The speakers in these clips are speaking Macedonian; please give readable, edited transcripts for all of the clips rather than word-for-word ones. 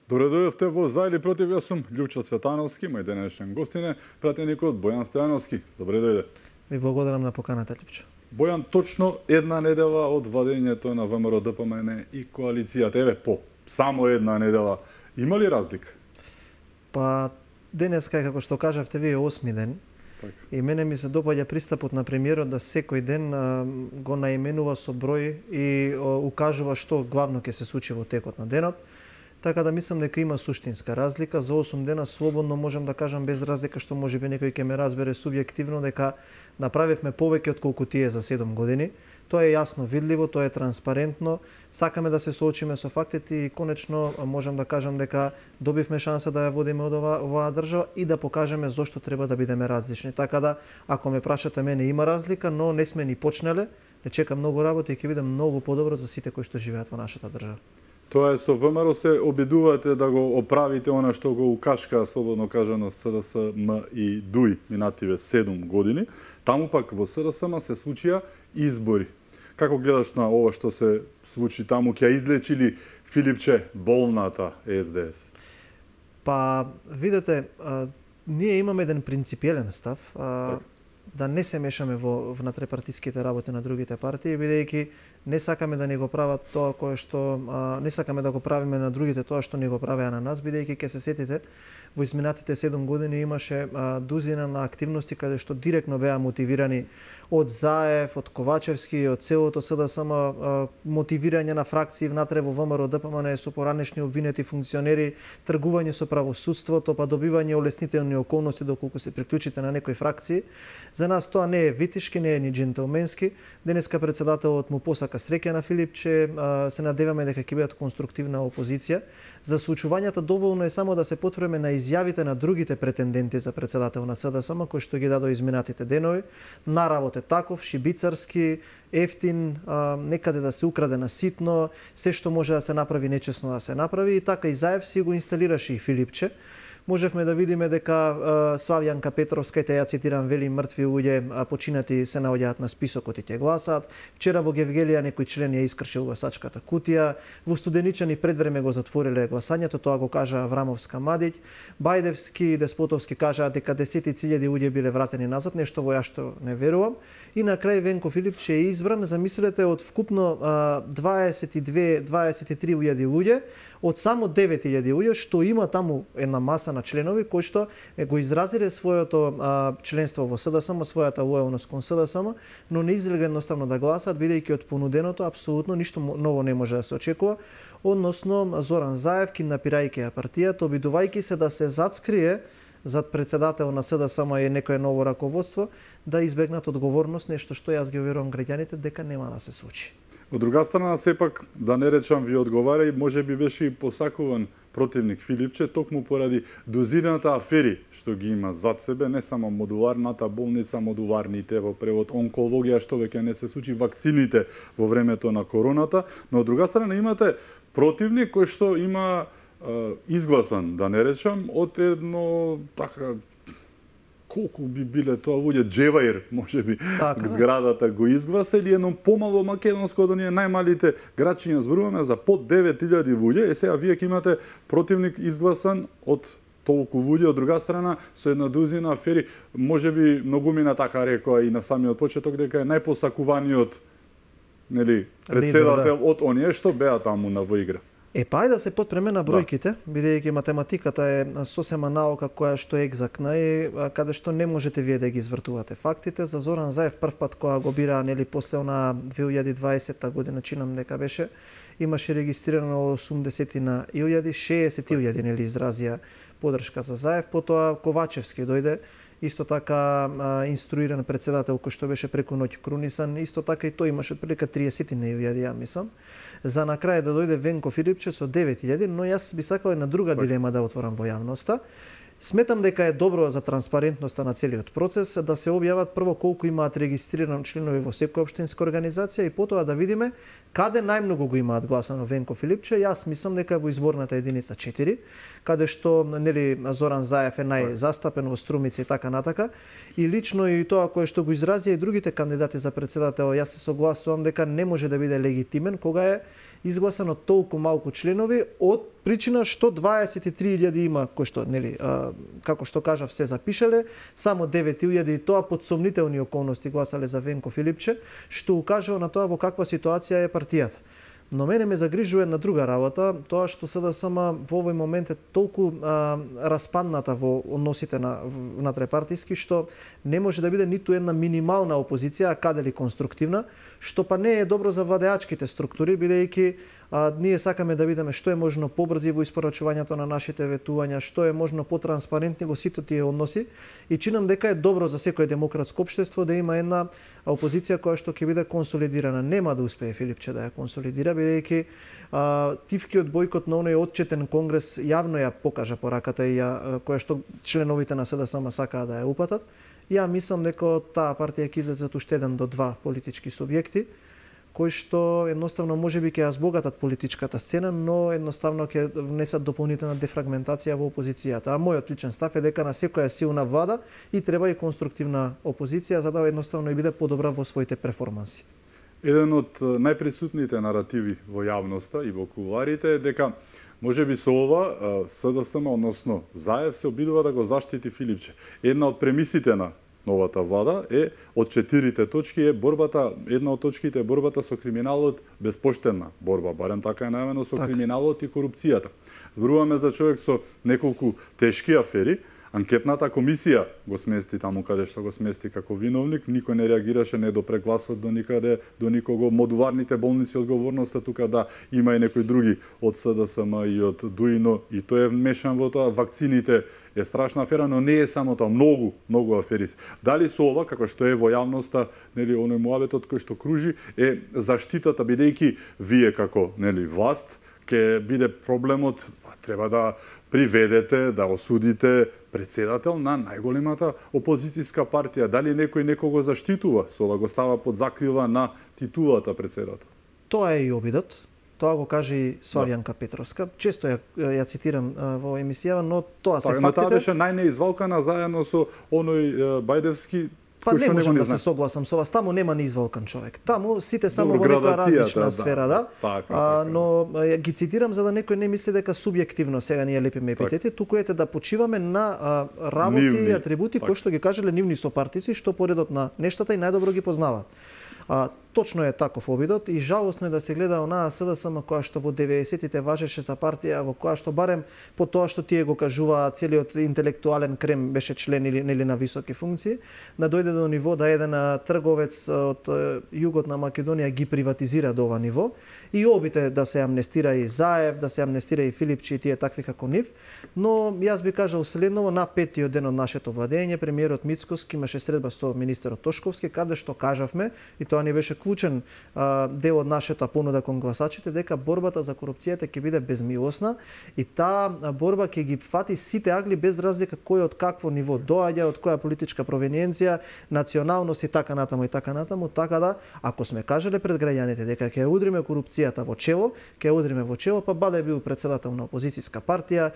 Добре дојдовте во За или против, јас сум Љупчо Цветановски, мој денешен гостин е пратеникот Бојан Стојановски. Добре дојде. Ви благодарам на поканата, Љупчо. Бојан, точно една недела од владењето на ВМРО ДПМН и коалицијата, еве по само една недела, има ли разлика? Па денеска, како што кажавте вие, 8 ден. Так. И мене ми се допаѓа пристапот на премиерот да секој ден го наименува со број и укажува што главно ќе се случи во текот на денот. Така да мислам дека има суштинска разлика. За 8 дена слободно можам да кажам без разлика, што можеби некој ќе ме разбере субјективно, дека направивме повеќе од колку тие за 7 години. Тоа е јасно видливо, тоа е транспарентно. Сакаме да се соочиме со фактите и конечно можам да кажам дека добивме шанса да ја водиме од оваа држава и да покажеме зошто треба да бидеме различни. Така да, ако ме прашате мене, има разлика, но не сме ни почнале. Не чека многу работа и ќе биде многу подобро за сите кои што живеат во нашата држава. Тоа е, со ВМРО се обидувате да го оправите она што го укашка, слободно кажано, СДСМ и ДУИ минативе 7 години. Таму пак во СДСМ се случија избори. Како гледаш на ова што се случи таму? Ќе излечи ли Филипче болната СДС? Па, видете, ние имаме еден принципиелен став, да не се мешаме во внатрепартиските работи на другите партии, бидејќи не сакаме да ни го прават тоа кое што не сакаме да го правиме на другите тоа што ни го правеа на нас, бидејќи ќе се сетите во изминатите 7 години имаше дузина на активности каде што директно беа мотивирани од Заев, од Ковачевски, од целото СДСМ, мотивирање на фракции внатре во ВМРО ДПМН со поранешни обвинети функционери, тргување со правосудството, па добивање олеснителни околности доколку се приклучите на некои фракции. За нас тоа не е витишки, не е ни джентелменски. Денеска председателот му посака среќа на Филипче, се надеваме дека ќе бидат конструктивна опозиција. За случувањата доволно е само да се потврдиме на изјавите на другите претенденти за председател на СДСМ кои што ги дадоа изминатите денови. Наравот е таков, шибицарски, ефтин, некаде да се украде на ситно, се што може да се направи нечесно да се направи и така и Заев си го инсталираше и Филипче. Можевме да видиме дека Славјанка Петровска, ја цитирам, вели мртви луѓе починати се наоѓаат на списокот и ќе гласаат. Вчера во Гевгелија некој член ја искршил гласачката кутија. Во Студеничани предвреме го затвориле гласањето, тоа го кажа Аврамовска Мадиќ. Бајдевски и Деспотовски кажаат дека десетици илјади луѓе биле вратени назад, нешто во ја што не верувам. И на крај Венко Филипче е избран, замислете, од вкупно 23.000 луѓе, од само 9.000 луѓе што има таму една маса на членови кои што го изразиле своето членство во СДСМ, својата лојалност кон СДСМ, но не излегле едноставно да гласат, бидејќи од понуденото апсолутно ништо ново не може да се очекува, односно Зоран Заев, киднапирајќи ја партијата, обидувајќи се да се зацкрие зад председател на СДСМ и некое ново раководство, да избегнат одговорност, нешто што јас ги верувам граѓаните дека нема да се случи. Од друга страна, сепак, да не речам ви одговара и може би беше и посакуван противник Филипче, токму поради дозината афери што ги има зад себе, не само модуларната болница, модуларните во превод онкологија, што веќе не се случи, вакцините во времето на короната, но од друга страна имате противник кој што има изгласан, да не речам, од едно така колку би биле тоа луѓе, Джеваир, можеби, зградата го изгласа, или едно помало македонско, да ние најмалите градчиња зборуваме за под 9.000 луѓе, сега вие ќе имате противник изгласан од толку луѓе, од друга страна, со една дузина афери, можеби многумина така рекоа и на самиот почеток, дека е најпосакуваниот председател од оние што беа таму на во игра. Па ајде да се потпреме на бројките, бидејќи математиката е сосема наука која што е екзактна и каде што не можете вие да ги извртувате фактите. За Зоран Заев прв пат кога го бира после на 2020 година, чинам дека беше, имаше регистрирано 80.000, 60.000 изразија поддршка за Заев, потоа Ковачевски дојде, исто така инструиран председател кој што беше преку ноќ крунисан, исто така и тој имаше прилика 30.000, ја мислам. За на крај да дојде Венко Филипче со 9.000, но јас би сакал една друга дилема да отворам во јавноста. Сметам дека е добро за транспарентноста на целиот процес да се објават прво колку имаат регистрирани членови во секоја општинска организација и потоа да видиме каде најмногу го имаат гласано Венко Филипче. Јас мислам дека е во изборната единица 4, каде што Зоран Заев е најзастапен во Струмица и така натака. И лично и тоа кое што го изразија и другите кандидати за председател, јас се согласувам дека не може да биде легитимен кога е изгласано толку малку членови од причина што 23.000 има кои што нели како што кажав се запишале, само 9.000 и тоа под сомнителни околности гласале за Венко Филипче, што укажува на тоа во каква ситуација е партијата. Но мене ме загрижува една друга работа, тоа што СДСМ во овој момент е толку распадната во односите на трепартиски, што не може да биде ниту една минимална опозиција, а каде ли конструктивна, што па не е добро за владеачките структури, бидејќи ние сакаме да видиме што е можно побрзи во испорачувањето на нашите ветувања, што е можно потранспарентни во сите тие односи и чинам дека е добро за секој демократско општество да има една опозиција која што ќе биде консолидирана. Нема да успее Филипче да ја консолидира, бидејќи тивкиот бојкот на оној отчетен конгрес јавно ја покажа пораката и која што членовите на СДСМ сакаа да ја упатат. Ја мислам дека таа партија ќе излезат уште 1 до 2 политички субјекти кои што едноставно можеби ќе ја збогатат политичката сцена, но едноставно ќе внесат дополнителна дефрагментација во опозицијата. А мојот личен став е дека на секоја силна влада и треба и конструктивна опозиција за да едноставно и биде подобра во своите перформанси. Еден од најприсутните наративи во јавноста и во кулуарите е дека можеби со ова СДСМ, односно Заев, се обидува да го заштити Филипче. Една од премисите на новата влада е од 4 точки е борбата, една од точките е борбата со криминалот, безпоштена борба, барем така е најавено, со криминалот и корупцијата. Зборуваме за човек со неколку тешки афери. Анкетната комисија го смести таму каде што го смести како виновник, никој не реагираше, не допре гласот до никаде, до никого. Модуларните болници одговорноста тука да има и некои други од СДСМ и од ДУИНО и тој е вмешан во тоа. Вакцините е страшна афера, но не е само тоа, многу афери. Дали со ова, како што е во јавноста, нели оној муабетот кој што кружи, е заштитата, бидејќи вие како нели власт ќе биде проблемот, треба да приведете, да осудите председател на најголемата опозицијска партија. Дали некој некого заштитува? Со ова го става под закрила на титулата председател. Тоа е и обидот. Тоа го каже и Славјанка Петровска. Често ја цитирам во емисија, но тоа се фактите. Таа беше најнеизвалкана заедно со оној Бајдевски. Па не можам да се согласам со вас, таму нема неизвалкан човек. Таму сите само во некоја различна сфера, да. Но ги цитирам за да некој не мисли дека субјективно сега ние лепиме епитети, туку ете да почиваме на работи и атрибути кои што ги кажале нивни сопартици, што поредот на нештата и најдобро ги познаваат. Точно е таков обидот и жалосно е да се гледа онаа СДСМ која што во 90-тите важеше за партија во која што барем по тоа што тие го кажуваа целиот интелектуален крем беше член или нели на високи функции, да дојде до ниво да еден трговец од југот на Македонија ги приватизира до ова ниво и обите да се амнестира и Заев, да се амнестира и Филипче и тие такви како нив, но јас би кажал следново на 5-тиот ден од нашето владење премиерот Мицкоски имаше средба со министерот Тошковски каде што кажавме и тоа ни беше клучен дел од нашата понуда кон гласачите дека борбата за корупцијата ќе биде безмилосна и таа борба ќе ги фати сите агли без разлика кој од какво ниво доаѓа, од која политичка провениенција, националност и така натаму, така да ако сме кажале пред граѓаните дека ќе удриме корупцијата во чело, ќе удриме во чело, па бале бил председател на опозицијска партија,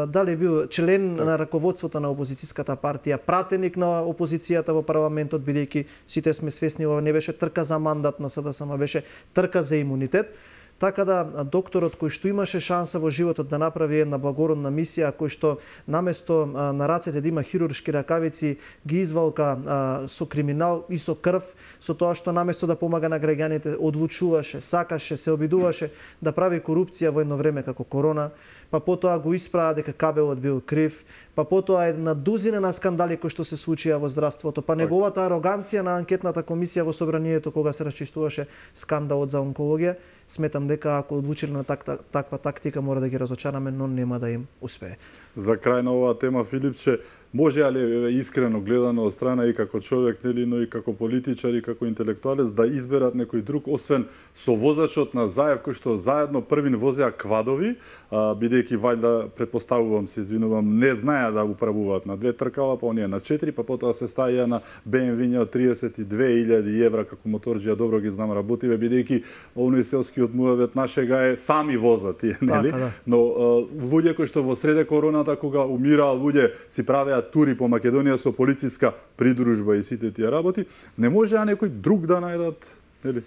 дали бил член на раководството на опозицијската партија, пратеник на опозицијата во парламентот, бидејќи сите сме свесни ова не беше трка за мандат на СДСМ, беше трка за имунитет. Така да докторот кој што имаше шанса во животот да направи една благородна мисија, кој што наместо на рацете да има хируршки ракавици, ги извалка со криминал и со крв, со тоа што наместо да помага на граѓаните, одлучуваше, сакаше, се обидуваше да прави корупција во едно време како корона, па потоа го исправа дека кабелот бил крив, па потоа една дузина на скандали кои што се случија во здравството, па неговата ароганција на анкетната комисија во собранието кога се расчистуваше скандалот за онкологија, сметам дека ако одлучиле на таква тактика мора да ги разочараме, но нема да им успее. За крај на оваа тема, Филипче, може ли искрено гледано од страна и како човек, нели, но и како политичар и како интелектуалец да изберат некој друг, освен со возачот на Заев, кој што заедно првин возеа квадови, бидејќи вајда, предпоставувам, се извинувам, не знаеа да управуваат на 2 тркала, па оние на 4, па потоа се стаја на BMW од 32.000 евра како моторџија, добро ги знам, работиве, бидејќи оној селскиот муавет нашега е сами возат тие, нели? Да. Но луѓе кои што во среде короната кога умираа луѓе си правеа тури по Македонија со полициска придружба и сите тие работи, не можеа некој друг да најдат, нели?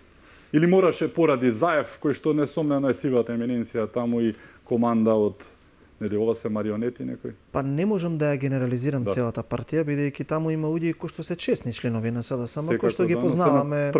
Или мораше поради Заев, кој што несомнено е сивата еминенција таму и команда од нели ова се марионети некои? Па не можам да ја генерализирам целата партија, бидејќи таму има луѓе кои што се честни членови на СДСМ, кои што ги познаваме,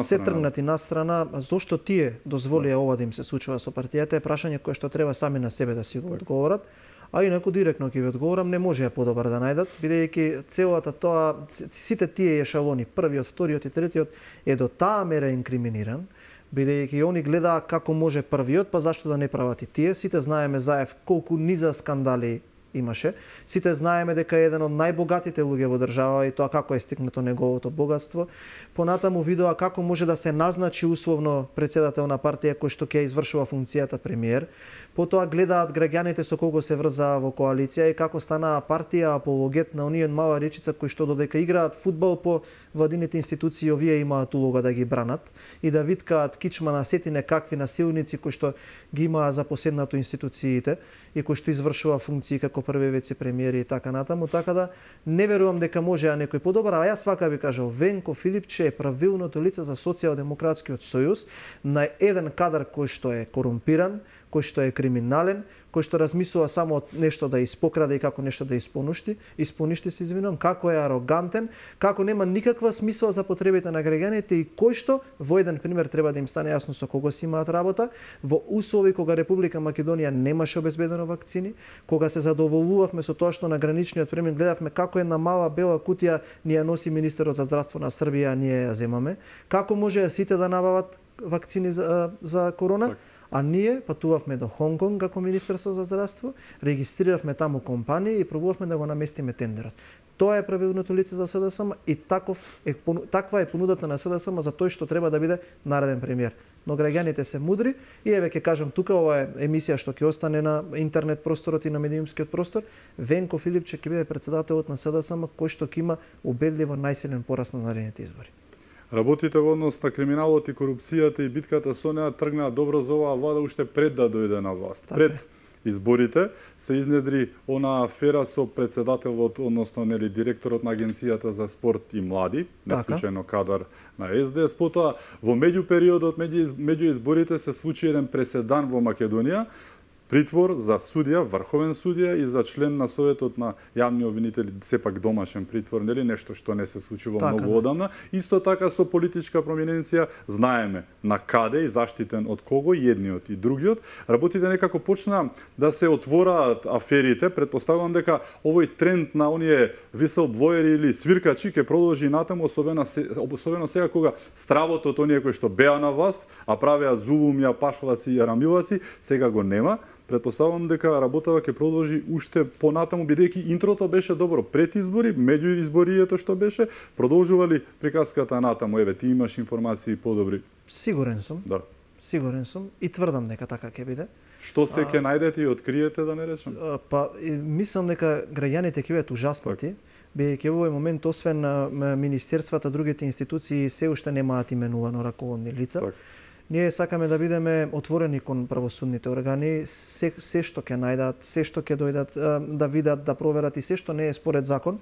се тргнати настрана. Зошто тие дозволија ова да им се случува со партијата е прашање кое што треба сами на себе да си го одговорат. А инаку директно ќе ви одговорам, не може ја подобар да најдат, бидејќи целата тоа, сите тие ешалони, првиот, вториот и третиот, е до таа мера инкриминиран, бидејќи они гледаа како може првиот, па зашто да не прават и тие. Сите знаеме Заев колку низа скандали имаше. Сите знаеме дека е еден од најбогатите луѓе во држава и тоа како е стигнато неговото богатство. Понатаму видоа како може да се назначи условно председател на партија кој што ќе извршува функцијата премиер. Потоа гледаат граѓаните со кого се врзаа во коалиција и како станаа партија апологет на оние мала речица кои што додека играат фудбал по владините институции, овие имаат улога да ги бранат и да виткаат кичма на сетине какви насилници кои што ги имаа запоседнато институциите и кои што извршува функции како први вице-премиери и така натаму, така да не верувам дека може некој подобар, а јас вака би кажал, Венко Филипче е правилното лице за Социјалдемократскиот сојуз на еден кадар кој што е корумпиран, кој што е криминален, кој што размислува само од нешто да испокраде и како нешто да испоништи се извинувам, како е арогантен, како нема никаква смисла за потребите на граѓаните и кој што во еден пример треба да им стане јасно со кого си имаат работа, во услови кога Република Македонија немаше обезбедено вакцини, кога се задоволувавме со тоа што на граничниот премин гледавме како една мала бела кутија ни ја носи министерот за здравство на Србија, а ние ја земаме, како може сите да набават вакцини за корона? А ние патувавме до Хонконг како Министерство за здравство, регистриравме таму компании и пробувавме да го наместиме тендерот. Тоа е правилното лице за СДСМ и таква е понудата на СДСМ за тој што треба да биде нареден премиер. Но граѓаните се мудри и еве ќе кажам тука, ова е емисија што ќе остане на интернет просторот и на медиумскиот простор. Венко Филипче ќе биде председателот на СДСМ кој што ќе има убедливо најсилен пораст на наредните избори. Работите во однос на криминалот и корупцијата и битката со неа тргнаа добро за оваа влада уште пред да дојде на власт. Пред изборите се изнедри она афера со председателот, односно нели директорот на Агенцијата за спорт и млади, неслучајно кадар на СДС. Потоа во меѓупериодот меѓу изборите се случи еден преседан во Македонија, притвор за судија, врховен судија и за член на Советот на јавни обвинители, сепак домашен притвор, нели нешто што не се случило многу одамна. Исто така со политичка проминенција знаеме на каде и заштитен од кого, едниот и другиот. Работите некако почна да се отвораат аферите, претпоставувам дека овој тренд на оние whistleblower или свиркачи ќе продолжи натаму, особено сега кога стравот од оние кои што беа на власт, а правеа зулумја, пашалаци и арамилаци, сега го нема. Претпоставувам дека работава ќе продолжи уште понатаму, бидејќи интрото беше добро пред избори, меѓу изборието што беше, продолжували приказката натаму. Еве, ти имаш информации подобри. Сигурен сум. Да. Сигурен сум и тврдам дека така ќе биде. Што се ќе најдете и откриете, да не речем? Па мислам дека граѓаните ќе бидат ужаснати, бидејќи во овој момент освен министерствата, другите институции се уште немаат именувано раководни лица. Ние сакаме да бидеме отворени кон правосудните органи, се што ќе најдат, се што ќе дојдат да видат, да проверат и се што не е според закон.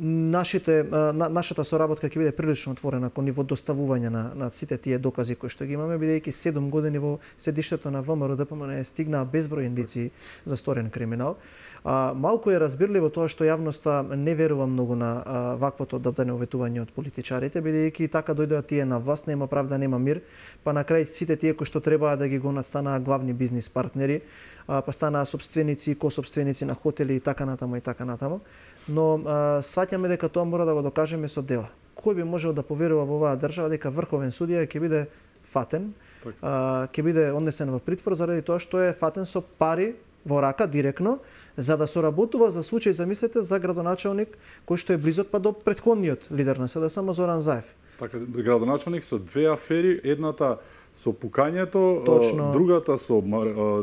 Нашата соработка ќе биде прилично отворена кон ниво доставување на сите тие докази кои што ги имаме, бидејќи 7 години во седиштето на ВМРО ДПМН стигнаа безброј индици за сторен криминал. Малку е разбирливо тоа што јавноста не верува многу на ваквото дадено уветување од политичарите, бидејќи така дојдоа тие на власт, нема правда, нема мир, па на крај сите тие кои што требаа да ги гонат станаа главни бизнис партнери, па станаа собственици, кособственици на хотели и така натаму и така натаму. Но сваќаме дека тоа мора да го докажеме со дела. Кој би можел да поверува во оваа држава дека врховен судија ќе биде фатен, ќе биде однесен во притвор заради тоа што е фатен со пари во рака директно, за да соработува за случај, замислете, за градоначалник кој што е близок па до претходниот лидер на СДСМ Зоран Заев. Така, градоначалник со две афери, едната со пукањето, другата со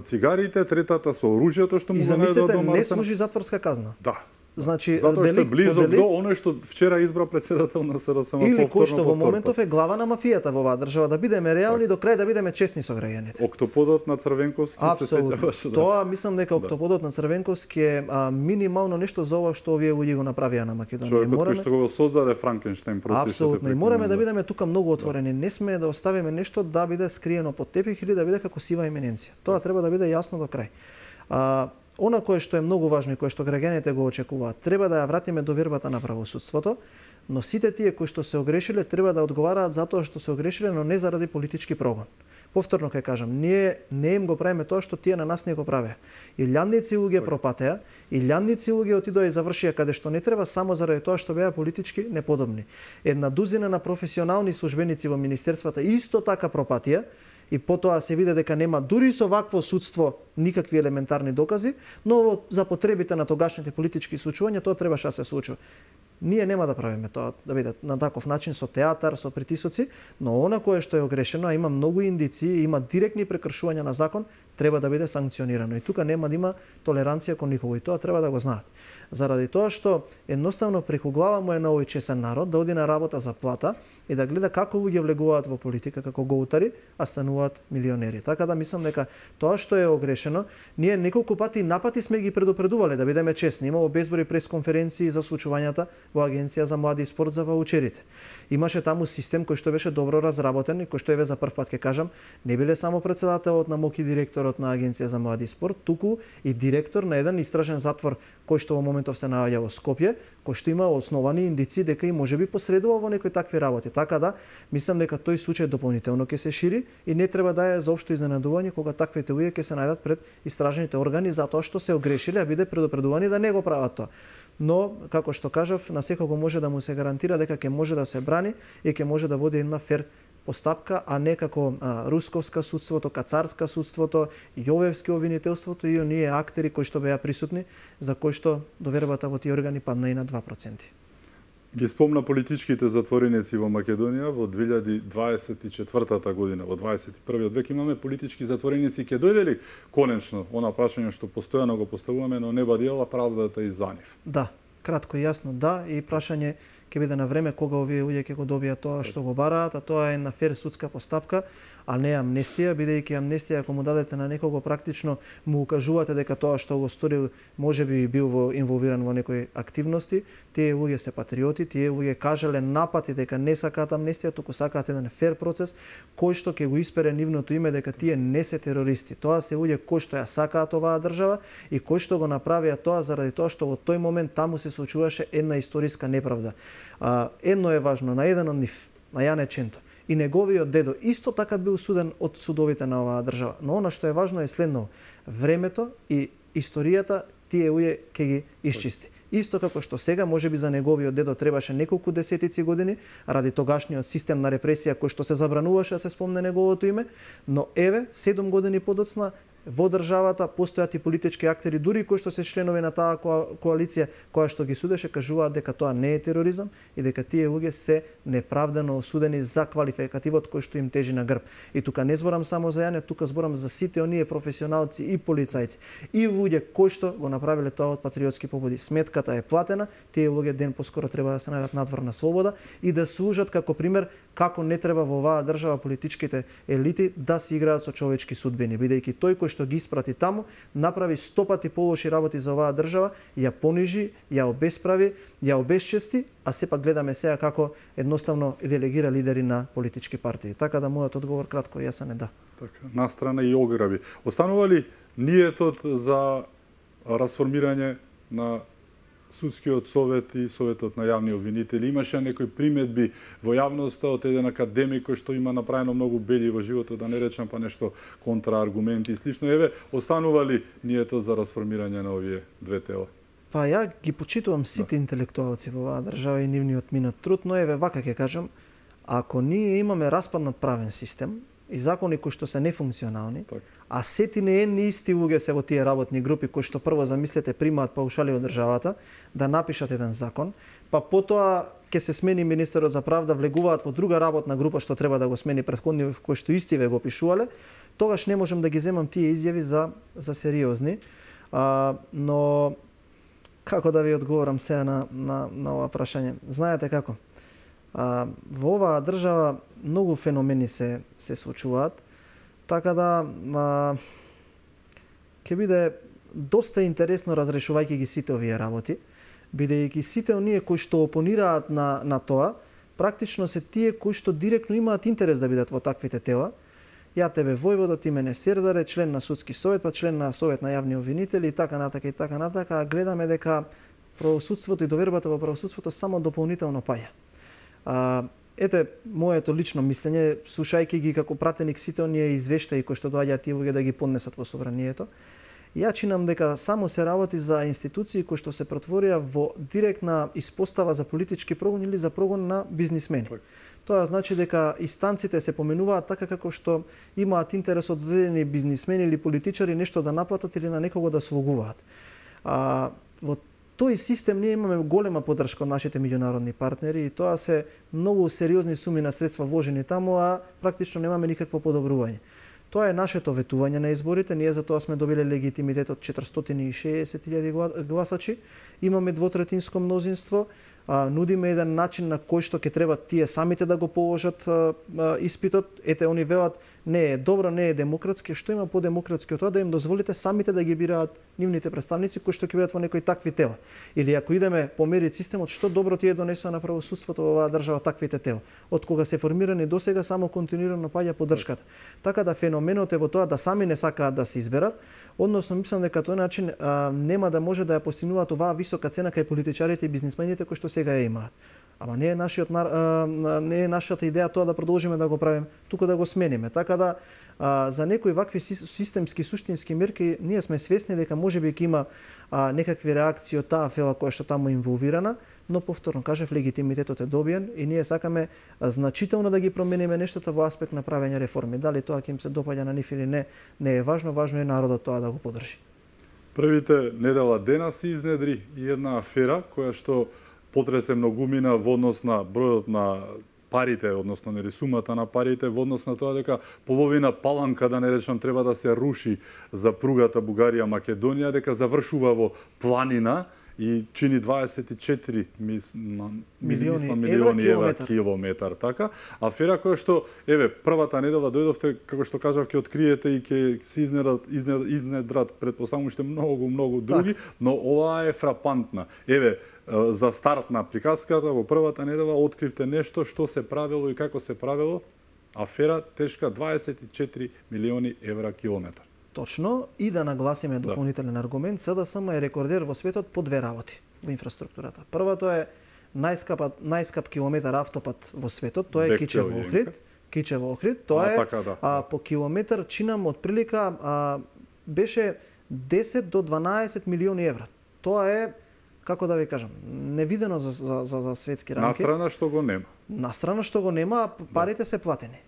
цигарите, третата со оружјето што му го најдоа до Марсена. Не служи затворска казна. Да. Значи затоа што е деликт близок по деликт, до оној што вчера избра председател на СДСМ или повторно. кој што во моментов е глава на мафијата во оваа држава, да бидеме реални до крај, да бидеме честни со граѓаните. Октоподот на Црвенковски се сеќаваш. Да. Тоа мислам дека октоподот на Црвенковски е минимално нешто за ова што овие луѓе го направија на Македонија. Човекот кој што го создаде Франкенштейн процесот. Апсолутно. И мораме да бидеме тука многу отворени. Не сме да оставиме нешто да биде скриено под тепих или да биде како сива имененција. Тоа треба да биде јасно до крај. Она кое што е многу важно и кое што граѓаните го очекуваат, треба да ја вратиме довербата на правосудството, но сите тие кои што се огрешиле треба да одговараат за тоа што се огрешиле, но не заради политички прогон. Повторно ќе кажам, ние не им го правиме тоа што тие на нас не го правеа. Илјадници луѓе пропатеа, илјадници луѓе отидоа и завршија каде што не треба само заради тоа што беа политички неподобни. Една дузина на професионални службеници во министерствата исто така пропатија, и потоа се виде дека нема дури со вакво судство никакви елементарни докази, но за потребите на тогашните политички случувања тоа требаше да се случува. Ние нема да правиме тоа да биде на таков начин со театар, со притисоци, но она кое што е огрешено, а има многу индици, има директни прекршувања на закон, треба да биде санкционирано. И тука нема да има толеранција кон никого и тоа треба да го знаат. Заради тоа што едноставно преку глава му е на овој чесен народ да оди на работа за плата и да гледа како луѓе влегуваат во политика како гоутари, а стануваат милионери. Така да мислам дека тоа што е огрешено, ние неколку пати напати сме ги предупредувале, да бидеме честни. Имало безброј пресконференции за случувањата во Агенција за млади и спорт за ваучерите. Имаше таму систем кој што беше добро разработен и кој што еве за прв пат ќе кажам, не биле само председателот на МОК и директорот на Агенција за млади и спорт, туку и директор на еден истражен затвор кој што во моментов се наоѓа во Скопје, кој што има основани индици дека и можеби посредува во некои такви работи. Така да, мислам дека тој случај дополнително ќе се шири и не треба да е заопшто изненадување кога таквите луѓе ќе се најдат пред истражните органи затоа што се огрешиле, а биде предупредувани да не го прават тоа. Но, како што кажав, на секого може да му се гарантира дека ќе може да се брани и ќе може да води една фер постапка, а не како русковска судството, кацарска судството, јовевски обвинителството и оние актери кои што беа присутни, за кои што довербата во тие органи падна и на 2%. Ги спомна политичките затвореници во Македонија во 2024 година, во 21 век имаме политички затвореници, ќе дојде ли конечно она прашање што постојано го поставуваме, но не бадила правдата и за нив? Да, кратко и јасно да, и прашање ќе биде на време кога овие луѓе ќе го добијат тоа што го бараат, а тоа е на фер судска постапка, а не амнестија, бидејќи амнестија ако му дадете на некого практично му укажувате дека тоа што го сторил можеби бил инволвиран во некои активности, тие луѓе се патриоти, тие луѓе кажале напати дека не сакаат амнестија, туку сакаат еден фер процес кој што ќе го испере нивното име дека тие не се терористи. Тоа се луѓе кои што ја сакаат оваа држава и кои што го направија тоа заради тоа што во тој момент таму се случуваше една историска неправда. Едно е важно, на еден од нив, на Јане Ченто, и неговиот дедо исто така бил суден од судовите на оваа држава. Но она што е важно е следно: времето и историјата тие луѓе ќе ги исчисти. Исто како што сега можеби за неговиот дедо требаше неколку десетици години ради тогашниот систем на репресија кој што се забрануваше да се спомне неговото име, но еве 7 години подоцна во државата постојат и политички актери, дури кои што се членови на таа коалиција која што ги судеше, кажуваат дека тоа не е тероризам и дека тие луѓе се неправдано осудени за квалификативот кој што им тежи на грб. И тука не зборам само за Јане, тука зборам за сите оние професионалци и полицајци и луѓе кои што го направиле тоа од патриотски побуди. Сметката е платена, тие луѓе ден поскоро треба да се најдат надвор на слобода и да служат како пример како не треба во оваа држава политичките елити да се играат со човечки судбини, бидејќи тој кој што ги испрати таму направи 100 пати полоши работи за оваа држава, ја понижи, ја обесправи, ја обесчести, а сепак гледаме сега како едноставно делегира лидери на политички партии. Така да мојот одговор кратко и јасен е да. Така, настрана и ограби. Останува ли ниетот за расформирање на Судскиот совет и Советот на јавни обвинители? Имаше некои приметби во јавноста од еден академик кој што има направено многу бели во животот, да не речам па нешто контрааргументи и слично. Еве, останува ли ниетот за расформирање на овие две тела? Па ја ги почитувам сите интелектуалци во оваа држава и нивниот минат труд, но еве вака ќе кажам, ако ние имаме распаднат правен систем и закони кои што се нефункционални, а сети не едни исти луѓе се во тие работни групи кои што прво замислете примаат паушали од државата да напишат еден закон, па потоа ќе се смени министерот за правда, влегуваат во друга работна група што треба да го смени претходниот кој што истиве го пишувале, тогаш не можам да ги земам тие изјави за сериозни, но Како да ви одговорам сега на ова прашање? Знаете како? Во оваа држава многу феномени се случуваат, така да ќе биде доста интересно разрешувајќи ги сите овие работи, бидејќи сите оние кои што опонираат на тоа, практично се тие кои што директно имаат интерес да бидат во таквите тела. Ја тебе војводо, ти мене Сердаре, член на судски совет, па член на совет на јавни обвинители и така натака, гледаме дека правосудството и довербата во правосудството само дополнително паѓа. Ете, моето лично мислење, слушајќи ги како пратеник сите оние извештаи кои што доаѓаат тие луѓе да ги поднесат во собранието, ја чинам дека само се работи за институции кои што се претворија во директна испостава за политички прогон или за прогон на бизнисмени. Тоа значи дека инстанците се поменуваат така како што имаат интерес од одредени бизнисмени или политичари нешто да наплатат или на некого да слугуваат. Во тој систем ние имаме голема поддршка од нашите меѓународни партнери и тоа се многу сериозни суми на средства вложени таму, а практично немаме никакво подобрување. Тоа е нашето ветување на изборите, ние за тоа сме добиле легитимитет од 460.000 гласачи, имаме двотретинско мнозинство, нудиме еден начин на кој што ќе треба тие самите да го положат испитот. Ете, они велат, не е добро, не е демократски, што има по-демократски од тоа да им дозволите самите да ги бираат нивните представници кои што ќе бидат во некои такви тела. Или ако идеме по мерит системот, што добро ти е донесено на правосудството во оваа држава таквите тела. Од кога се формирани досега само континуирано паѓа поддршката. Така да феноменот е во тоа да сами не сакаат да се изберат, односно мислам дека тој начин нема да може да ја постигнуваат оваа висока цена кај политичарите и бизнисмените кои што сега ја имаат. Ама не е нашата идеја тоа да продолжиме да го правиме, туку да го смениме. Така да за некои вакви системски суштински мерки ние сме свесни дека можеби ќе има некакви реакции од таа фела која што таму инволвирана, но повторно кажав, легитимитетот е добиен и ние сакаме значително да ги промениме нештата во аспект на правење реформи. Дали тоа ќе им се допаѓа на нив или не е важно е народот тоа да го поддржи. Првите недела дена се изнедри и една афера која што потресе многумина во однос на бројот на парите, односно нели сумата на парите, во однос на тоа дека половина паланка, да не речам, треба да се руши за пругата Бугарија-Македонија, дека завршува во планина и чини 24 милиони евра километар, така. Афера која што, првата недела дојдовте, како што кажав, ќе откриете и ќе се изнедрат предпоставувам уште многу други, но оваа е фрапантна. За старт на приказката, во првата недела откривте нешто што се правело и како се правело. Афера тешка 24 милиони евра километар. Точно, и да нагласиме дополнителен аргумент, СДСМ е рекордер во светот по две работи во инфраструктурата. Првото е најскап километар автопат во светот, тоа е Кичево-Охрид. Тоа е по километар чинам од прилика беше 10 до 12 милиони евра. Тоа е, како да ви кажам, невидено за светски рамки. Настрана што го нема, парите се платени.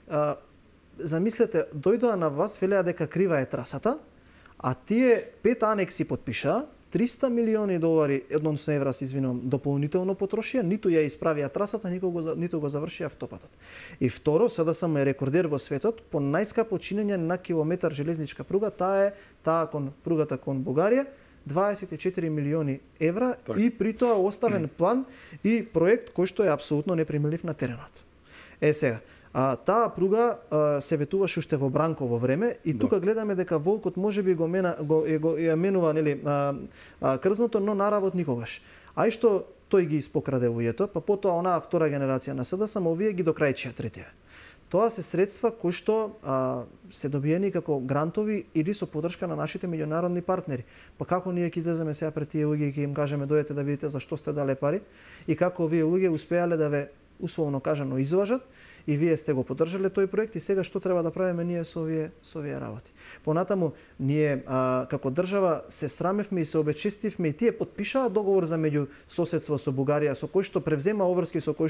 Замислете, дојдоа на вас, велеа дека крива е трасата, а тие 5 анекси подпишаа, 300 милиони долари, односно евра, се извинувам, дополнително потрошија, ниту ја исправија трасата, ниту го завршија автопатот. И второ, СДСМ е рекордер во светот по најскапо чинење на километар железничка пруга, таа кон пругата кон Бугарија, 24 милиони евра и при тоа оставен план и проект кој што е апсолутно непримелив на теренот. Сега, таа пруга се ветуваше уште во Бранково време и тука гледаме дека волкот можеби го менува крзното, но наравот никогаш. А и што тој ги испокраде луѓето, па потоа онаа втора генерација на СДСМ овие ги докрајчија третија. Тоа се средства кои што се добиени како грантови или со поддршка на нашите меѓународни партнери. Па како ние ќе излеземе сега пред тие луѓе и ќе им кажеме дојдете да видите зашто сте дале пари и како овие луѓе успеале да ве условно кажано излажат и вие сте го поддржале тој проект и сега што треба да правиме ние со овие работи. Понатаму ние како држава се срамевме и се обечестивме и тие подпишаа договор за меѓусоседство со Бугарија со кој што превзема обврски за кој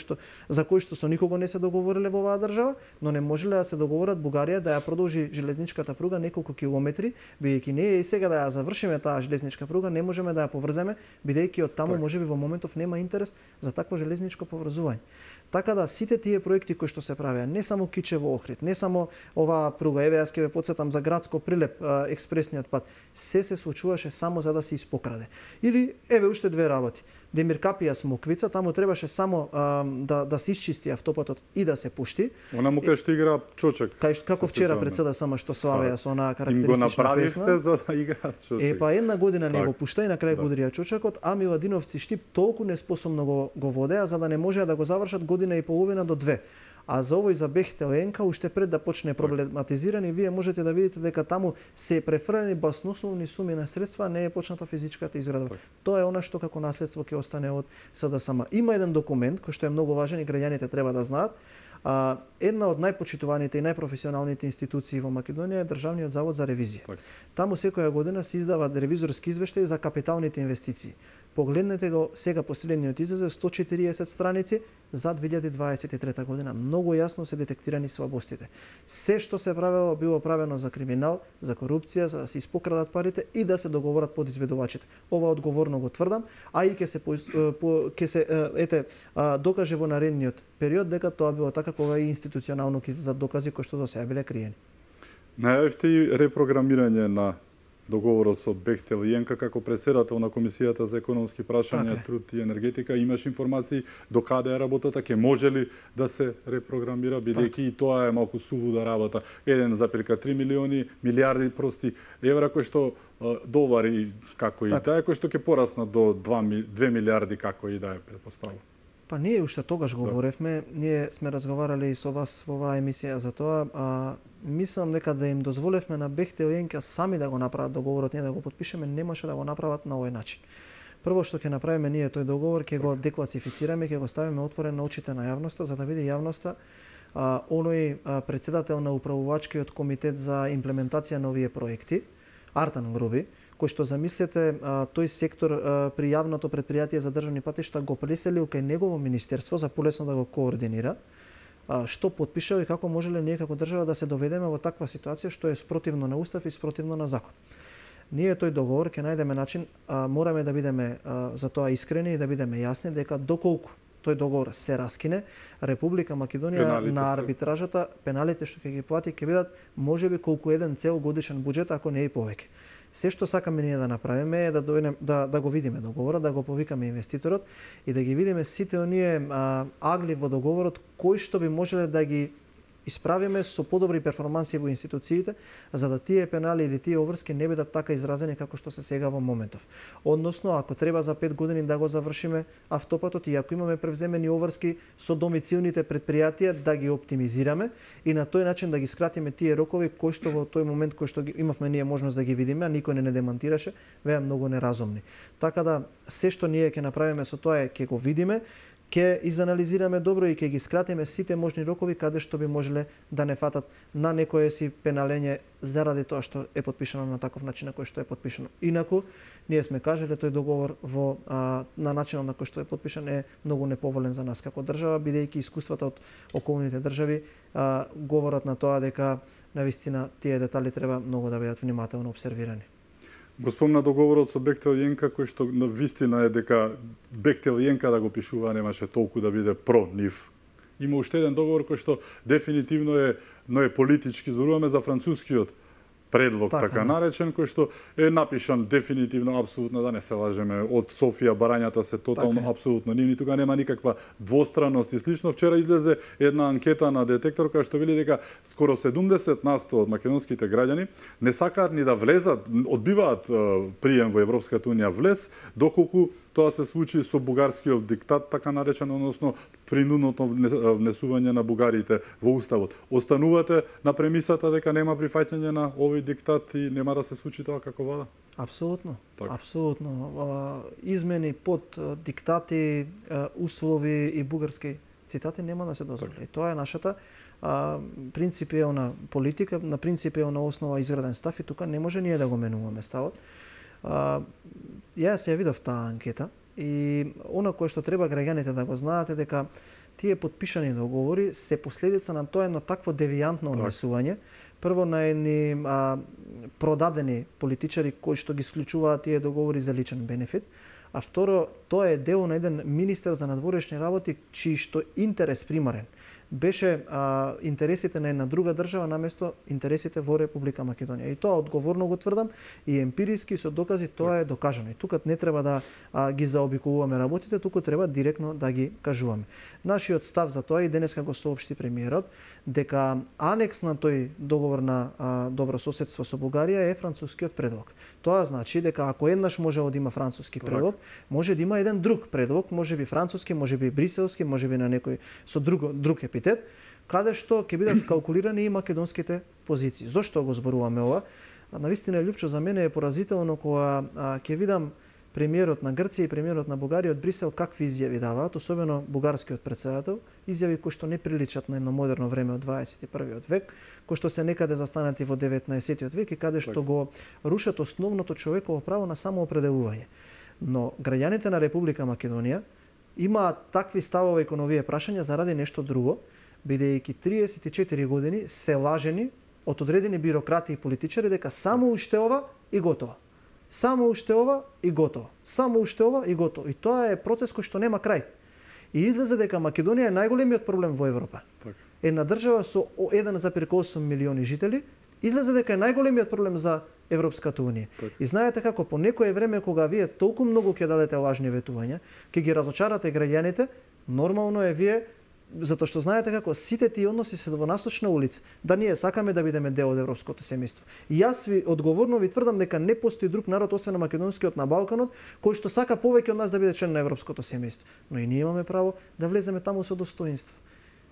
што со никого не се договориле во оваа држава, но не можеле да се договорат Бугарија да ја продолжи железничката пруга неколку километри, бидејќи ние и сега да ја завршиме таа железничка пруга не можеме да ја поврземе, бидејќи од таму можеби во моментов нема интерес за такво железничко поврзување. Така да сите тие проекти кои што се правеа, не само Кичево Охрид, не само оваа пруга, еве јас ќе ве потсетам за градско Прилеп, експресниот пат, се случуваше само за да се испокраде. Или еве уште две работи. Демир Капија Смоквица, таму требаше само да се исчисти автопатот и да се пушти. Она му кај што игра Чочек. Како вчера председа само што славеа со онаа карактеристична им го направивте песна. За да играат Чочек. Па една година не го пушта и на крај го удрија Чочекот, а Миладиновци Штип толку неспособно го водеа за да не можеа да го завршат година и половина до 2. А за овој за Бехтел Енка, уште пред да почне проблематизирани, вие можете да видите дека таму се префрлени баснословни суми на средства, не е почната физичката изградба. Тоа е она што како наследство ќе остане од СДСМ. Има еден документ кој што е многу важен и граѓаните треба да знаат. Една од најпочитуваните и најпрофесионалните институции во Македонија е Државниот завод за ревизија. Таму секоја година се издава ревизорски извештај за капиталните инвестиции. Погледнете го сега последниот излезе 140 страници за 2023 година. Многу јасно се детектирани слабостите. Се што се правело било правено за криминал, за корупција, за да се испокрадат парите и да се договорат подизведувачите. Ова одговорно го тврдам, а и ќе се докаже во наредниот период дека тоа било така кога и институционално ќе излезат докази кои што до сега биле криени. Најавивте и репрограмирање на договорот со Бехтел Енка како претседател на Комисијата за економски прашања, труд и енергетика. Имаш информации до каде е работата, ќе може ли да се репрограмира, бидејќи и тоа е малку сулуда работа. 1,3 милиарди евра кои што долари како и таа, кои што ќе пораснат до 2 милиарди како и да е претпоставува. Па ние уште тогаш говоревме, ние сме разговарали и со вас во оваа емисија за тоа, мислам дека да им дозволевме на Бехтел Енка сами да го направат договорот, ние да го подпишеме, немаше да го направат на овој начин. Прво што ќе направиме ние тој договор, ќе го декласифицираме, ќе го ставиме отворен на очите на јавноста, за да види јавноста оној претседател на управувачкиот комитет за имплементација на овие проекти, Артан Груби, кој што замислете тој сектор при јавното претпријатие за државни патишта го преселил кај негово министерство за полесно да го координира, што потпишал и како можеле ние како држава да се доведеме во таква ситуација што е спротивно на устав и спротивно на закон. Ние тој договор ќе најдеме начин, мораме да бидеме за тоа искрени и да бидеме јасни дека доколку тој договор се раскине, Република Македонија на арбитражата, пеналите што ќе ги плати ќе бидат можеби колку еден цел годишен буџет, ако не и повеќе. Се што сакаме ние да направиме е да го видиме договорот, да го повикаме инвеститорот и да ги видиме сите оние агли во договорот кои што би можеле да ги исправиме со подобри перформанси во институциите, за да тие пенали или тие обврски не бидат така изразени како што се сега во моментов. Односно, ако треба за 5 години да го завршиме автопатот и ако имаме превземени обврски со домицилните претпријатија, да ги оптимизираме и на тој начин да ги скратиме тие рокови кои што во тој момент кој што имавме ние можност да ги видиме, а никој не демантираше, беа многу неразумни. Така да се што ние ќе направиме со тоа е ќе го видиме, ќе изанализираме добро и ќе ги скратиме сите можни рокови каде што би можеле да не фатат на некое си пеналење заради тоа што е потпишано на таков начин на кој што е потпишано. Инаку, ние сме кажале тој договор на начинот на кој што е потпишан е многу неповолен за нас како држава, бидејќи искуствата од околните држави говорат на тоа дека навистина тие детали треба многу да бидат внимателно обсервирани. Го спомна договорот со Бехтел Енка, кој што на вистина е дека Бехтел Енка да го пишува немаше толку да биде про нив. Има уште еден договор кој што дефинитивно е политички, зборуваме за францускиот предлог, така наречен, кој што е напишан дефинитивно, апсолутно, да не се лажеме, од Софија барањата се тотално апсолутно нивни, тука нема никаква двостранност и слично. Вчера излезе една анкета на Детектор која што вели дека скоро 70% од македонските граѓани не сакаат ни да влезат, одбиваат прием во Европската унија влез, доколку тоа се случи со бугарскиот диктат, така наречен, односно принудното внесување на бугарите во уставот. Останувате на премисата дека нема прифаќање на овој диктат и нема да се случи тоа како вада? Апсолутно. Апсолутно. Измени под диктати, услови и бугарски цитати нема да се дозволи. Тоа е нашата принципиелна политика, на принципиелна основа изграден став и тука не може ние да го менуваме ставот. Јас ја видов таа анкета и она кое што треба граѓаните да го знаат е дека тие потпишани договори се последица на тоа едно такво девијантно однесување. Прво на едни продадени политичари кои што ги исклучуваат тие договори за личен бенефит, а второ, тоа е дел на еден министер за надворешни работи чиј што интерес примарен беше интересите на една друга држава наместо интересите во Република Македонија. И тоа одговорно го тврдам и емпириски со докази тоа е докажано. И тука не треба да ги заобиколуваме работите, туку треба директно да ги кажуваме. Нашиот став за тоа и денеска го соопшти премиерот дека анекс на тој договор на добро соседство со Бугарија е францускиот предлог. Тоа значи дека ако еднаш може да има француски предлог, може да има еден друг предлог, можеби француски, можеби бриселски, можеби на некој со друг епитет, каде што ќе бидат калкулирани и македонските позиции. Зошто го зборуваме ова? Навистина, Лјупчо, за мене е поразително кога ќе видам премиерот на Грција и премиерот на Бугарија од Брисел какви изјави даваат, особено бугарскиот председател, изјави кои што не приличат на едно модерно време од 21. век, кои што се некаде застанати во 19. век и каде што го рушат основното човеково право на самоопределување. Но граѓаните на Република Македонија имаат такви ставови кон овие прашања заради нешто друго, бидејќи 34 години се лажени од одредени бюрократи и политичари дека само уште ова и готово. Само уште ова и готово. Само уште ова и готово. И тоа е процес кој што нема крај. И излезе дека Македонија е најголемиот проблем во Европа. Так. Една држава со 1,8 милиони жители, излезе дека е најголемиот проблем за Европската унија. Так. И знаете како по некое време кога вие толку многу ќе дадете лажни ветувања, ќе ги разочарате граѓаните, нормално е вие, затоа што знаете како сите тие односи се во насочна улица, да ние сакаме да бидеме дел од европското семејство. И јас ви одговорно ви тврдам дека не постои друг народ освен на македонскиот на Балканот кој што сака повеќе од нас да биде член на европското семејство. Но и ние имаме право да влеземе таму со достоинство.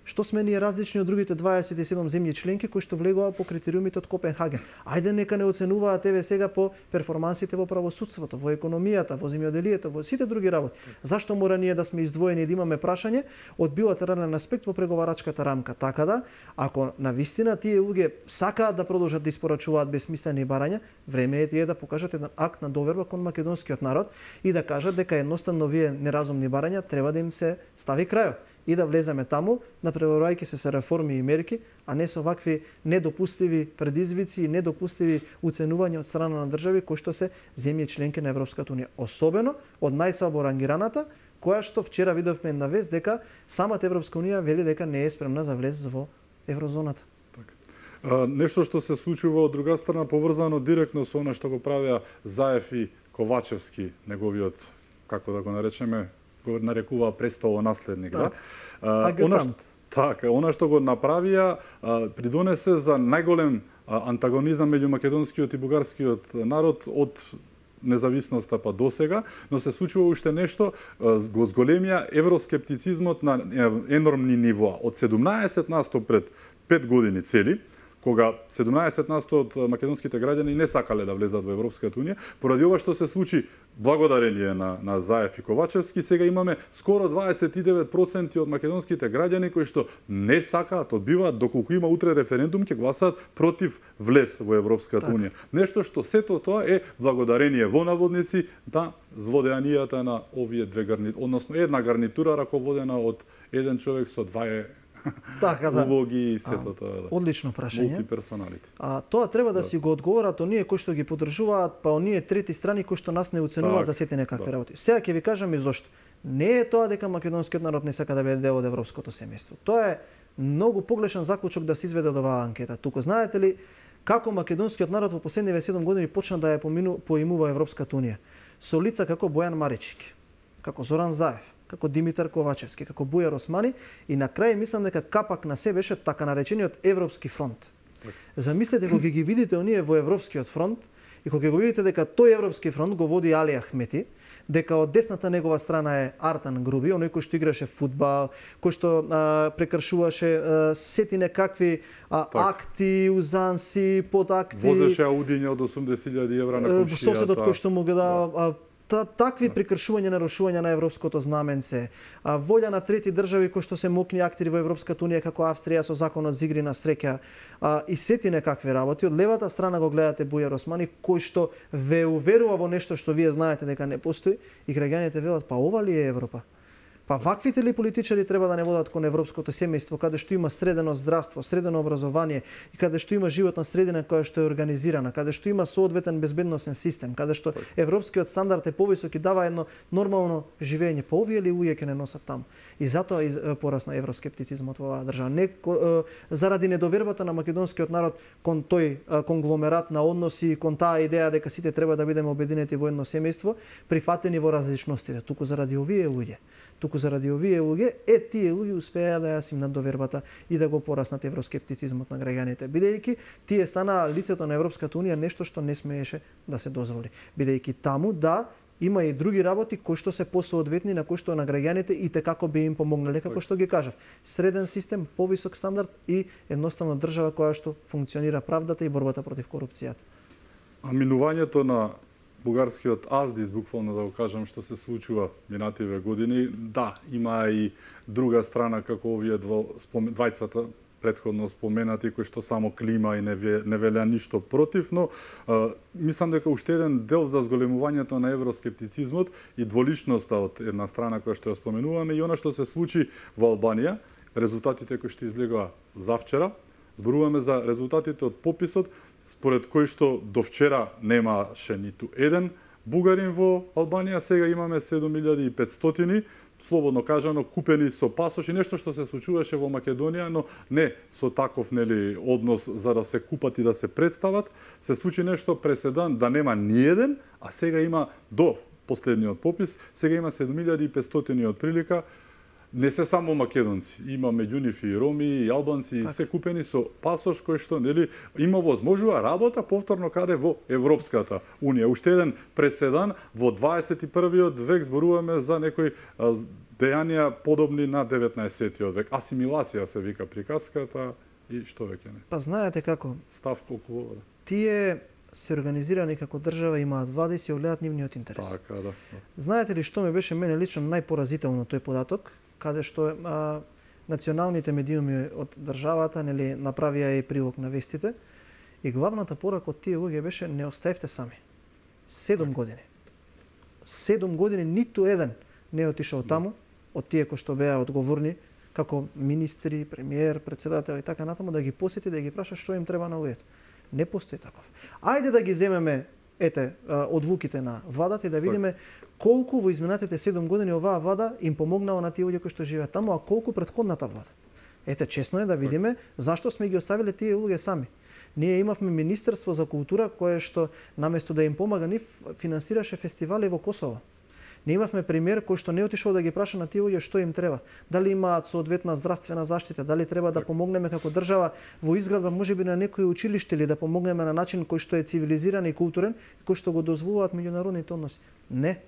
Што сме ние различни од другите 27 земји членки кои што влегува по критериумите од Копенхаген? Ајде нека не оценуваат еве сега по перформансите во правосудството, во економијата, во земјоделието, во сите други работи. Зашто мора ние да сме издвоени и да имаме прашање од билатерален аспект во преговарачката рамка? Така да, ако навистина тие луѓе сакаат да продолжат да испорачуваат бесмислени барања, време е тие да покажат еден акт на доверба кон македонскиот народ и да кажат дека едноставно вие неразумни барања треба да им се стави крајот и да влеземе таму, напреварувајќи се со реформи и мерки, а не со вакви недопустиви предизвици и недопустиви уценувања од страна на држави кои што се земји членки на Европската унија. Особено од најслабо рангираната, која што вчера видовме една вест дека самата Европска унија вели дека не е спремна за влез во еврозоната. Нешто што се случува од друга страна поврзано директно со она што го правеа Заев и Ковачевски, неговиот, како да го наречеме, го нарекува престолонаследник, так. да? Агютант. Она што го направија придонесе за најголем антагонизам меѓу македонскиот и бугарскиот народ од независноста па досега, но се случува уште нешто, го зголемија евроскептицизмот на енормни нивоа. Од 17% пред 5 години цели, кога 17% од македонските граѓани не сакале да влезат во Европската унија, поради ова што се случи благодарение на Заев и Ковачевски, сега имаме скоро 29% од македонските граѓани кои што не сакаат, одбиваат, доколку има утре референдум, ќе гласаат против влез во Европската унија. Нешто што сето тоа е благодарение во наводници на злодејанијата на овие две гарнитури, односно една гарнитура раководена од еден човек со два така, да. улоги и сето тоа. Да. Одлично прашање. Мултиперсоналити. Тоа треба да си го одговорат оние кои што ги поддржуваат, па оние трети страни кои што нас не оценуваат за сите некакви работи. Сега ќе ви кажам и зошто. Не е тоа дека македонскиот народ не сака да биде дел од европското семејство. Тоа е многу погрешен заклучок да се изведе од оваа анкета. Туку знаете ли како македонскиот народ во последниве 7 години почна да ја поимува Европската унија? Со лица како Бојан Марички, како Зоран Заев, како Димитар Ковачевски, како Бујар Османи и на крај мислам дека капак на се беше така наречениот Европски фронт. Замислете кога ги видите оние во Европскиот фронт и кога го видите дека тој Европски фронт го води Али Ахмети, дека од десната негова страна е Артан Груби, оној кој што играше фудбал, кој што прекршуваше сети некакви акти, узанси, подакти. Возеше аудиња од 80.000 евра на комшијата. Соседот кој што му ги дава такви прекршувања, нарушувања на европското знаменце, волја на трети држави кои што се мокни актери во Европската унија како Австрија со законот за игри на среќа и сети некакви работи. Од левата страна го гледате Бујар Османи кој што ве уверува во нешто што вие знаете дека не постои и граѓаните велат па ова ли е Европа? Па ваквите ли политичари треба да не водат кон европското семејство, каде што има средено здравство, средено образование и каде што има животна средина која што е организирана, каде што има соодветен безбедносен систем, каде што европскиот стандард е повисок и дава едно нормално живење. Па овие ли луѓе ќе не носат таму? И затоа порасна евроскептицизмот во оваа држава. Не заради недовербата на македонскиот народ кон тој конгломерат на односи, кон таа идеја дека сите треба да бидеме обединети во едно семејство, прифатени во различностите, туку заради овие луѓе. Тие луѓе успеа да ја симнат довербата и да го пораснат евроскептицизмот на граѓаните, бидејќи тие станаа лицето на Европската унија нешто што не смееше да се дозволи. Бидејќи таму има и други работи кои што се посоодветни на кои што на граѓаните и како би им помогнале, како што ги кажав. Среден систем, повисок стандард и едноставно држава која што функционира правдата и борбата против корупцијата. А минувањето на бугарскиот аздис, буквално да го кажам, што се случува минативе години, да, има и друга страна како овие двајцата претходно споменати, кои што само клима и не велеа ништо против, но мислам дека уште еден дел за зголемувањето на евроскептицизмот и дволичноста од една страна која што ја споменуваме и она што се случи во Албанија, резултатите кои што излегоа завчера, зборуваме за резултатите од пописот, според кој што до вчера немаше ниту еден бугарин во Албанија, сега имаме 7500, слободно кажано, купени со пасош и нешто што се случуваше во Македонија, но не со таков однос за да се купат и да се представат. Се случи нешто преседан да нема ниеден, а сега има до последниот попис, сега има 7500 од прилика. Не се само македонци, има меѓу нив и роми, и албанци, и се купени со пасош кој што има возможува работа повторно каде во Европската унија. Уште еден преседан во 21-виот век, зборуваме за некои дејанија подобни на 19-тиот век. Асимилација се вика приказката и што веќе не. Па знаете како? Став колку вода. Тие се организирани како држава, имаат влада и се огледаат нивниот интерес. Така, да. Знаете ли што ми беше мене лично најпоразително тој податок? Каде што националните медиуми од државата направија и прилог на вестите и главната порака од тие луѓе беше не оставете сами. 7 години. 7 години ниту еден не отишол таму од тие кои што беа одговорни како министри, премиер, председател и така натаму да ги посети да ги праша што им треба на луѓето. Не постои таков. Ајде да ги земеме одлуките на владата и да видиме колку во изминатите 7 години оваа влада им помогнала на тие луѓе кои што живеат таму, а колку претходната влада. Чесно е да видиме зашто сме ги оставиле тие луѓе сами. Ние имавме Министерство за култура кое што наместо да им помага нив финансираше фестивали во Косово. Не имавме премиер кој што не отишол да ги праша на тие луѓе што им треба. Дали имаат соодветна здравствена заштита, дали треба да помогнеме како држава во изградба можеби на некој училиште или да помогнеме на начин кој што е цивилизиран и културен, кој што го дозволуваат меѓународните односи. Не.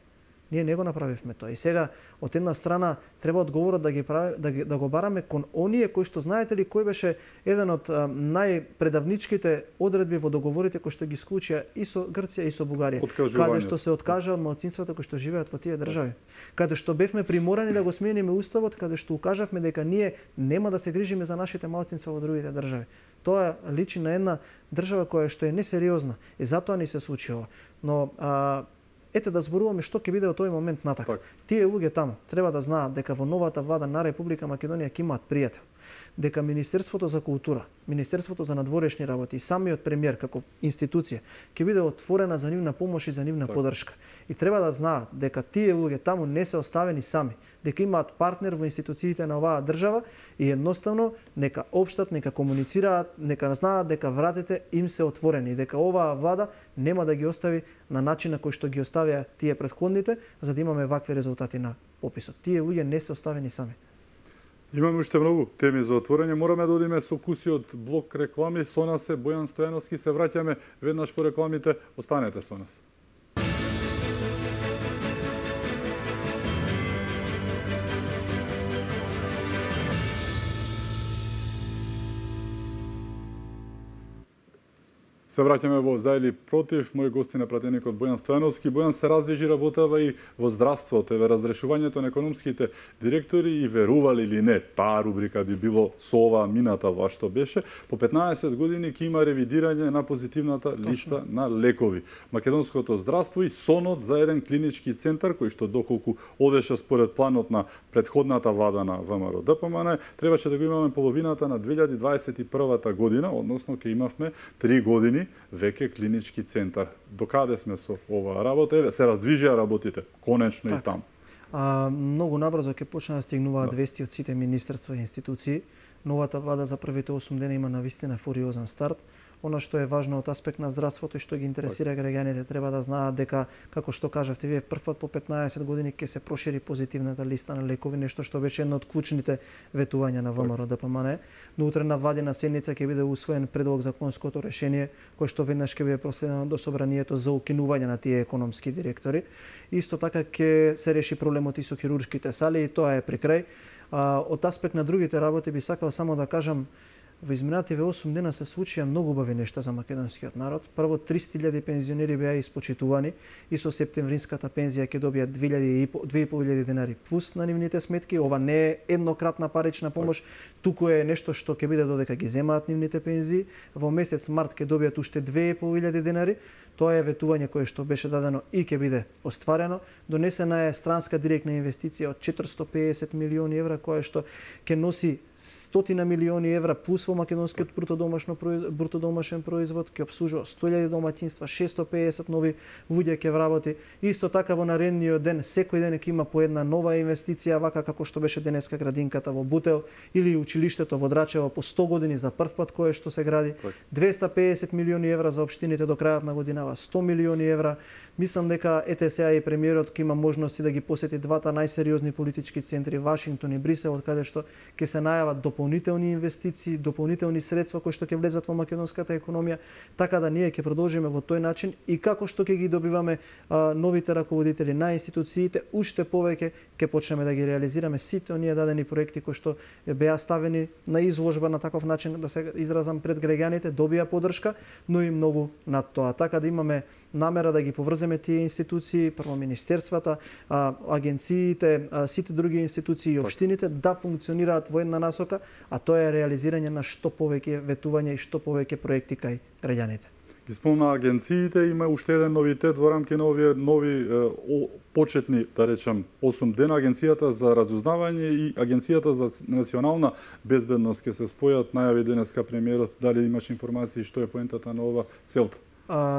Ние не го направивме тоа. И сега од една страна треба одговорот да го бараме кон оние кои што знаете ли кој беше еден од најпредавничките одредби во договорите кои што ги склучија и со Грција и со Бугарија, каде што се откажа од малцинствата кои што живеат во тие држави. Каде што бевме приморани да го смениме уставот, каде што укажавме дека ние нема да се грижиме за нашите малцинства во другите држави. Тоа личи на една држава која што е несериозна и затоа ни се случи ова. Но да зборуваме што ќе биде од тој момент натака. Тие луѓе таму треба да знаат дека во новата влада на Република Македонија ќе имаат пријател. Дека Министерството за култура, Министерството за надворешни работи и самиот премиер како институција ќе биде отворена за нивна помош и за нивна поддршка. И треба да знаат дека тие луѓе таму не се оставени сами, дека имаат партнер во институциите на оваа држава и едноставно нека општат, нека комуницираат, нека знаат дека вратите им се отворени, дека оваа влада нема да ги остави на начин на кој што ги оставија тие претходните, за да имаме вакви резултати на пописот. Тие луѓе не се оставени сами. Имаме уште многу теми за отворање. Мораме да одиме со куси од блок реклами. Со нас е Бојан Стојановски. Се враќаме веднаш по рекламите. Останете со нас. Се враќаме во за или против. Мој гости на пратеникот Бојан Стојановски. Бојан се раздвижи работава и во здравството, еве разрешувањето на економските директори и верували или не, таа рубрика би било со ова мината ва што беше. По 15 години ќе има ревидирање на позитивната листа на лекови. Македонското здравство и сонот за еден клинички центар кој што доколку одеше според планот на претходната влада на ВМРО ДПМН, требаше да го имаме половината на 2021 година, односно ќе имавме 3 години веќе клинички центар. Докаде сме со оваа работа? Еве се раздвижија работите, конечно и там. Многу набрзо ќе почнат да стигнуваат вести од сите министерства и институции. Новата влада за првите 8 дена има навистина фуриозен старт. Она што е важно од аспект на здравството и што ги интересира граѓаните, треба да знаат дека, како што кажавте вие, првпат по 15 години ќе се прошири позитивната листа на лекови, нешто што беше едно од клучните ветувања на ВМРО ДПМН. Но утре на владина седница ќе биде усвоен предлог законското решение, кој што веднаш ќе биде проследено до собранието за укинување на тие економски директори. Исто така ќе се реши проблемот и со хируршките сали и тоа е при крај. Од аспект на другите работи би сакал само да кажам, во изминативе 8 дена се случија многу убави нешта за македонскиот народ. Прво 300.000 пензионери беа испочитувани и со септемвринската пензија ќе добијат 2.500 денари плюс на нивните сметки. Ова не е еднократна парична помош, туку е нешто што ќе биде додека ги земаат нивните пензии. Во месец март ќе добијат уште 2.500 денари. Тоа е ветување кое што беше дадено и ќе биде остварено. Донесена е странска директна инвестиција од 450 милиони евра, која што ќе носи 100 милиони евра плюс во македонскиот брутодомашен производ, ќе обслужува 100.000 домаќинства, 650 нови луѓе ќе вработи. Исто така во наредниот ден, секој ден ќе има по една нова инвестиција, вака како што беше денеска градинката во Бутел или училиштето во Драчево по 100 години за прв пат кое што се гради. 250 милиони евра за општините до крајот на годинава, 100 милиони евра. Мислам дека сега и премиерот ќе има можности да ги посети двата најсериозни политички центри, Вашингтон и Брисел, од каде што ќе се најават дополнителни инвестиции, дополнителни средства кои што ќе влезат во македонската економија, така да ние ќе продолжиме во тој начин и како што ќе ги добиваме новите раководители на институциите, уште повеќе ќе почнеме да ги реализираме сите оние дадени проекти кои што беа ставени на изложба на таков начин, да се изразам пред граѓаните, добија поддршка, но и многу над тоа. Така да имаме намера да ги поврземе тие институции, прво министерствата, агенциите, сите други институции и општините да функционираат во една насока, а тоа е реализирање на што повеќе ветување и што повеќе проекти кај граѓаните. Ги спомна агенциите, има уште еден новитет во рамки на овие нови почетни, да речам, 8 дена. Агенцијата за разузнавање и Агенцијата за национална безбедност ќе се спојат, најави денеска премиерот. Дали имаш информации што е поентата на ова целта?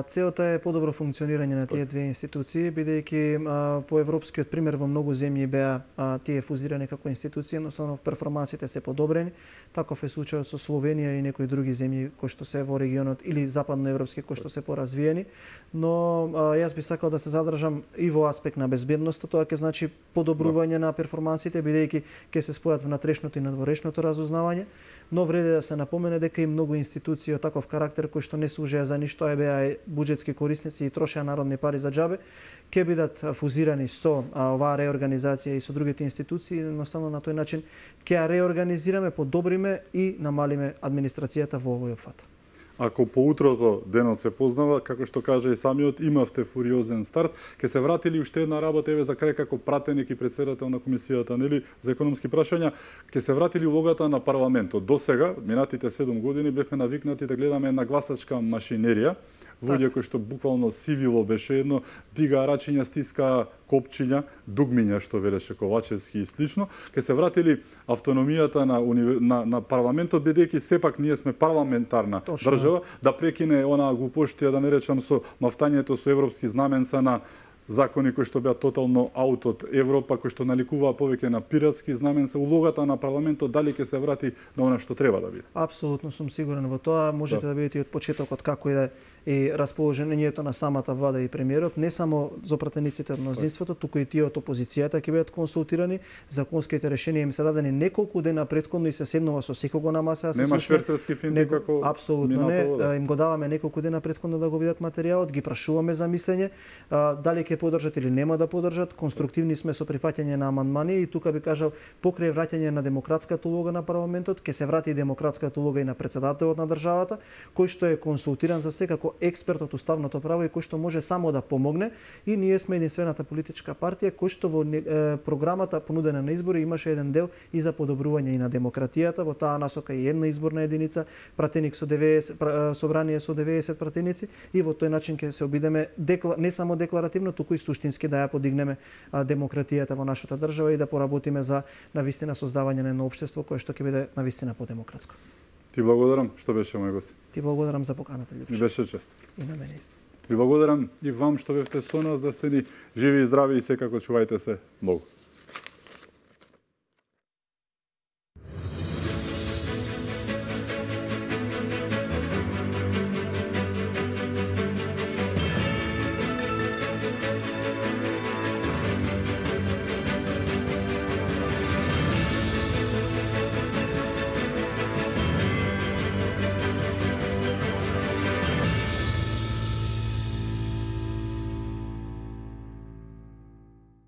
Целта е подобро функционирање на тие две институции, бидејќи по европскиот пример во многу земји беа тие фузирани како институции, едноставно перформансите се подобрени. Таков е случајот со Словенија и некои други земји кои што се во регионот или западноевропски кои што се поразвиени, но јас би сакал да се задржам и во аспект на безбедноста. Тоа ќе значи подобрување на перформансите, бидејќи ќе се спојат внатрешното и надворешното разузнавање. Но вреди да се напомене дека и многу институции од таков карактер кои што не служеа за ништо, беа буџетски корисници и трошеа народни пари за џабе, ќе бидат фузирани со оваа реорганизација и со другите институции. Едноставно на тој начин ќе ја реорганизираме, подобриме и намалиме администрацијата во овој опфат. Ако по утрото денот се познава, како што кажа и самиот, имавте фуриозен старт, ќе се вратили уште една работа, еве за крај како пратеник и председател на комисијата, нели, за економски прашања, ќе се вратили улогата на парламентот. До сега, минатите 7 години, бевме навикнати да гледаме една гласачка машинерија, луѓе кои што буквално сивило беше едно, дига рачиња, стиска копчиња, дугмиња што велеше Ковачевски и слично. Ке се вратили автономијата на парламентот, бидејќи сепак ние сме парламентарна држава, да прекине она глупоштија, да не речам, со мафтањето со европски знаменца на закони кои што беа тотално аут од Европа, кои што наликуваа повеќе на пиратски знаменца. Улогата на парламентот дали ќе се врати на она што треба да биде? Апсолутно сум сигурен во тоа. Можете да видите од почетокот како и расположението на самата влада и премиерот, не само за пратениците од мнозинството, туку и тие од опозицијата ќе бидат консултирани. Законските решенија им се дадени неколку дена претходно и се седнува со секого на маса. Нема шверцерски финти како апсолутно не. Им го даваме неколку дена претходно да го видат материјалот, ги прашуваме за мислење, дали ќе поддржат или нема да поддржат. Конструктивни сме со прифаќање на амандмани и тука би кажал покрај враќање на демократската улога на парламентот, ќе се врати и демократската улога и на председателот на државата, кој што е консултиран за се како експерт од уставното право и кој што може само да помогне, и ние сме единствената политичка партија кој што во програмата понудена на избори имаше еден дел и за подобрување и на демократијата, во таа насока и една изборна единица, пратеник со 90 собрание со 90 пратеници, и во тој начин ќе се обидеме не само декларативно, туку и суштински да ја подигнеме демократијата во нашата држава и да поработиме за навистина создавање на едно општество кое што ќе биде навистина подемократско. Ти благодарам што беше мој гост. Ти благодарам за поканата, Лјупче. Ми беше чест. И на мене исто. Ви благодарам и вам што бевте со нас, да сте ни живи и здрави и секако чувајте се. Богу.